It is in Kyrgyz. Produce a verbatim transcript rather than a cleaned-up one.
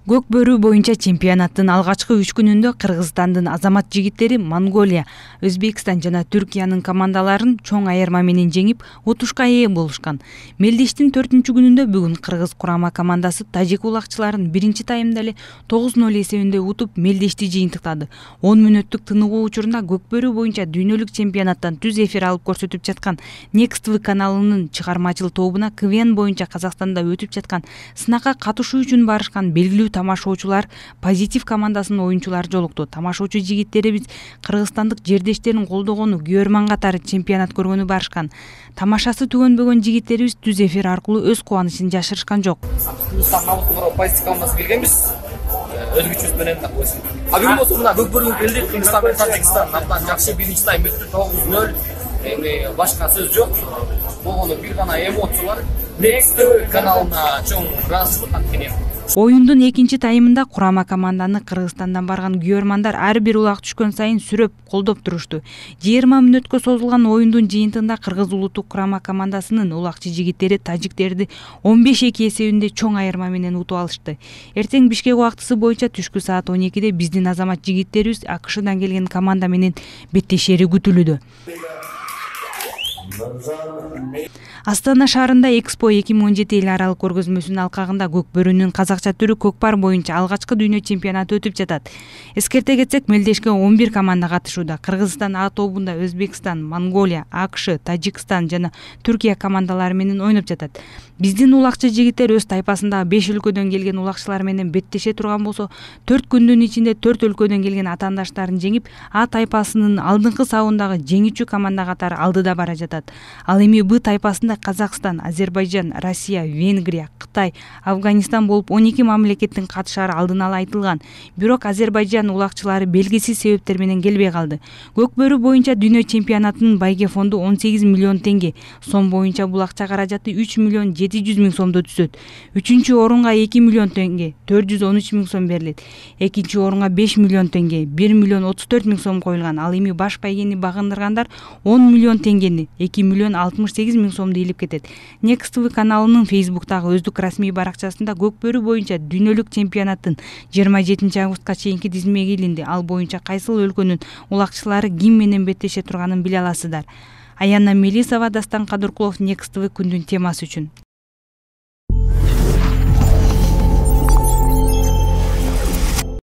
Көк бөрү боюнча чемпионаттын алгачкы үч күнүндө Кыргызстандын азамат жигиттери Монголия, Өзбекстан жана Түркиянын командаларын чоң айырма менен жеңип, утушка ээ болушкан. Мелдештин төртүнчү күнүндө бүгүн Кыргыз курама командасы тажик улагчыларын биринчи таймда эле тогуз ноль эсебинде утуп, Мелдешти жыйынтыктады. он мүнөттүк тыныгуу учурунда көк бөрү боюнча дүйнөлүк чемпионаттан түз эфир алып көрсөтүп жаткан Next ти ви каналынын чыгармачыл тобуна КВН боюнча Казакстанда өтүп жаткан сынакка катышуу үчүн барышкан белгилүү тамашоочулар Позитив командасынын оюнчулары жолукту. Тамашоочу жигиттерибиз кыргызстандык жердештерин колдогону, көрман катары чемпионат көргөнү барышкан. Тамашасы түгөнбөгөн жигиттерибиз түз эфир аркылуу өз кубанычын жашырышкан жок. Позитив командасы келгенбиз. Өз күчүбүз менен так койсун. А бүгүн болсо мына көк бөрүгө келдик. Кыргызстан менен Тажикстан абдан жакшы биринчи тайм бүттү тогуз ноль. Эми башка сөз жок. Болгону бир гана эмоциялар. Next ти ви каналына чоң ыраазычылык анткени. Оюндун экинчи таймында курама команданы Кыргызстандан барган күйөрмандар ар бир улак түшкөн сайын сүрөп, колдоп турушту. жыйырма мүнөткө созулган оюндун жыйынтыгында Кыргыз улуттук курама командасынын улакчы жигиттери тажиктерди он беш эки эсебинде чоң айырма менен утуп алышты. Эртең Бишкек убактысы боюнча түшкү саат он экиде биздин азамат жигиттерибиз АКШдан келген команда менен беттешери күтүлүүдө. Астана шаарында Экспо эки миң он жети эл аралык көргөзмөсүнүн алкагында көк бөрүнүн казакча түрү көкпар боюнча алгачкы дүйнө чемпионаты өтүп жатат. Эскерте кетсек, Мелдешке он бир команда катышууда. Кыргызстан А тобунда Өзбекстан, Монголия, АКШ, Тажикстан жана Түркия командалары менен ойноп жатат. Биздин улакчы жигиттер өз тайпасындагы беш өлкөдөн келген улакчылар менен беттеше турган болсо, төрт күндүн ичинде төрт өлкөдөн келген атаандаштарын жеңип, А тайпасынын алдыңкы сабындагы жеңүүчү команда катары алдыда бара жатат. Ал эми Б тайпасында Казакстан, Азербайжан, Россия, Венгрия, Кытай, Афганистан болуп он эки мамлекеттин катышары алдын ала айтылган. Бирок Азербайжан улакчылары белгисиз себептер менен келбей калды. Көк бөрү боюнча дүйнө чемпионатынын байге фонду он сегиз миллион теңге, сом боюнча бул акча каражаты үч миллион жети жүз миң сомдо түшөт. Үчүнчү орунга эки миллион теңге, төрт жүз он үч миң сом берилет. Экинчи орунга беш миллион теңге, бир миллион отуз төрт миң сом коюлган. Ал эми баш байгени багындыргандар он миллион теңгени, эки миллион алтымыш сегиз миң сомду илип кетет. Next ти ви каналынын Фейсбуктагы өздүк расмий баракчасында көк бөрү боюнча дүйнөлүк чемпионаттын жыйырма жетинчи августка чейинки тизмеге илинди. Ал боюнча кайсыл өлкөнүн улакчылары ким менен беттеше турганын биле аласыздар. Аянна Мелисова, Дастан Кадыркулов, Next ти ви күндүн темасы үчүн.